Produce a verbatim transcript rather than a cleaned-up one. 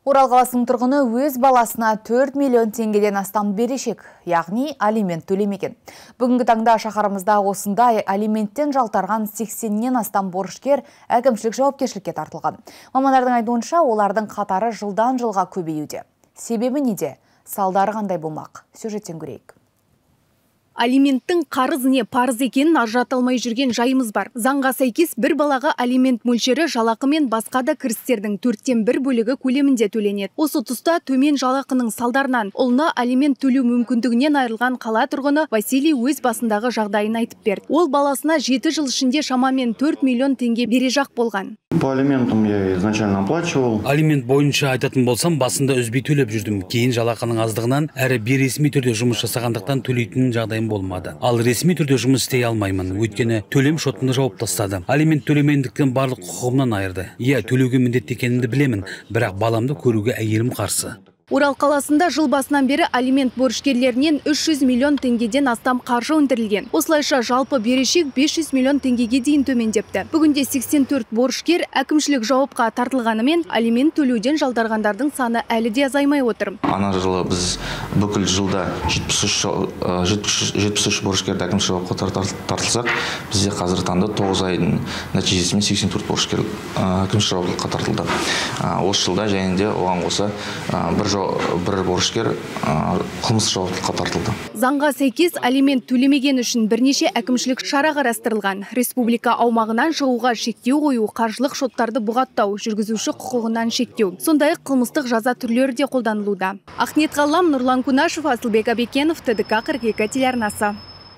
Орал қаласының тұрғыны өз баласына төрт миллион теңгеден астам берешек, яғни алимент төлемеген. Бүгінгі таңда шаһарымызда осындай алименттен жалтарған сексеннен астам борышкер әкімшілік жауапкершілікке тартылған. Мамандардың айтуынша, олардың қатары жылдан жылға көбеюде. Себебі неде? Салдары қандай болмақ? Сюжеттен көрейік. Алименттің қарыз не парыз екенін ажырата алмай жүрген жайымыз бар. Заңға сәйкес бір балаға алимент мөлшері жалақы мен басқа да кірістердің төрттен бір бөлігі көлемінде төленеді. Осы тұста төмен жалақының салдарынан ұлына алимент төлеу мүмкіндігінен айырылған қала тұрғыны Василий өз басындағы жағдайын айтып берді. Ол баласына жеті жыл ішінде шамамен төрт миллион теңге бережақ болған. По алиментам я изначально оплачивал. Алимент бойынша айтатын болсам, басында үзбей төлеп жүрдім. Кейін жалақының аздығынан әрі бейресми түрде жұмыс жасағандықтан төлейтін жағдайым болмады. Ал ресми түрде жұмыс істей алмаймын, өйткені төлем шотымды жауып тастады. Алимент төлемендіктен барлық құқығымнан айырды. Иә, төлеуге міндетті екенімді білемін, бірақ баламды көруге әйелім қарсы. Орал қаласында жыл басынан бері алимент борышкерлерінен үш жүз миллион теңгеден астам қаржы өндірілген. Осылайша жалпы берешек бес жүз миллион теңгеге дейін төмендепті. Бүгінде сексен төрт борышкер әкімшілік жауапқа тартылғанымен алимент төлеуден жалдарғандардың саны әлі де азаймай отыр. Ана жылы біз бүкіл жылда жетпіс үш борышкерді әкімшілік жауапқа тартылсақ, бізде қазір таңда тоғыз айдың нәтижесімен сексен төрт борышкер әкімшілік жауапқа тартылды. Осы жылда және де оған қоса бір бір борышкер қылмыс жауаптылыққа тартылды. Заңға сәйкес алимент төлемеген үшін бірнеше әкімшілік шара қарастырылған. Республика аумағынан шығуға шектеу қою, қаржылық шоттарды бұғаттау, жүргізуші құқығынан шектеу. Сондай-ақ қылмыстық жаза түрлері де қолданылуда. Ахнет Ғалам, Нұрлан Кунашев, Асылбек Абекенов, ТДК қырық екі телеарнасы.